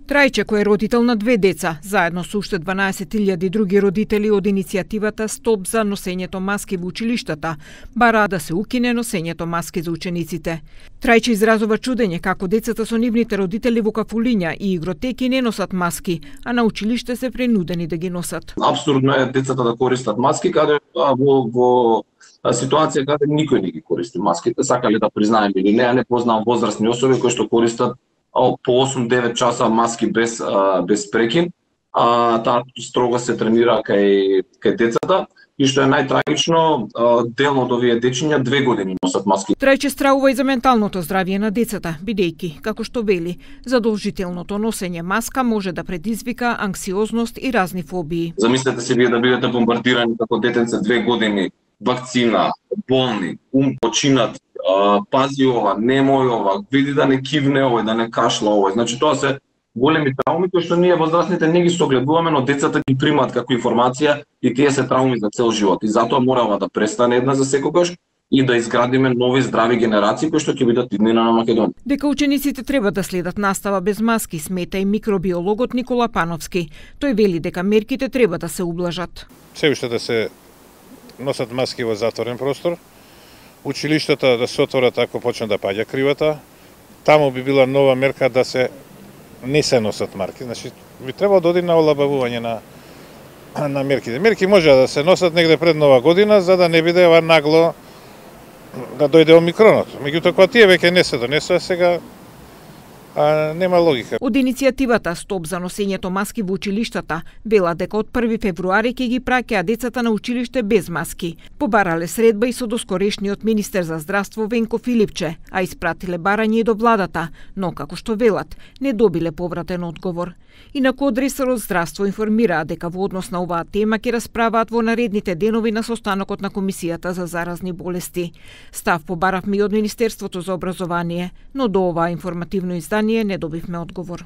Трајче, кој е родител на 2 деца, заедно со уште 12.000 други родители од иницијативата Стоп за носењето маски во училиштата, бара да се укине носењето маски за учениците. Трајче изразува чудење како децата со нивните родители во кафулиња и игротеки не носат маски, а на училиште се принудени да ги носат. Апсурдно е децата да користат маски каде во ситуација каде никој не ги користи маските, сакале да признаеме или не познавам возрастни особи кои што користат по 8-9 часа маски без прекин. Таа строго се тренира кај децата и што е најтрагично, дел од овие дечиња 2 години носат маски. Трајче стравува и за менталното здравје на децата, бидејќи, како што вели, задолжителното носење маска може да предизвика анксиозност и разни фобии. Замислете се вие да бидете бомбардирани како детенце 2 години, вакцина, болни, починат, пази ова, немој ова, види да не кивне овој, да не кашла овој. Значи тоа се големи трауми кои што ние возрастните не ги согледуваме, но децата ги примаат како информација и тие се трауми за цел живот. И затоа мора да престане една за секогаш и да изградиме нови здрави генерации кои што ќе бидат иднина на Македонија. Дека учениците треба да следат настава без маски, смета и микробиологот Никола Пановски. Тој вели дека мерките треба да се ублажат. Се уште да се носат маски во затворен простор, училиштата да се отворат ако почне да паѓа кривата, таму би била нова мерка да се не се носат марки, значи би требало да оди на олабавување на мерките. Мерки може да се носат негде пред Нова година за да не биде ова нагло да дојде омикронот. Меѓутоа кога тие веќе не се донесува сега, нема логика. Од иницијативата Стоп за носењето маски во училиштата вела дека од 1 февруари ќе ги праќаат децата на училиште без маски. Побарале средба и со доскорешниот министер за здравство Венко Филипче, а испратиле барање и до владата, но како што велат, не добиле повратен одговор. Инаку од ресорот здравство информираа дека во однос на оваа тема ќе расправаат во наредните денови на состанокот на Комисијата за заразни болести. Став побаравме и од Министерството за образование, но до оваа информативно издание не добивме одговор.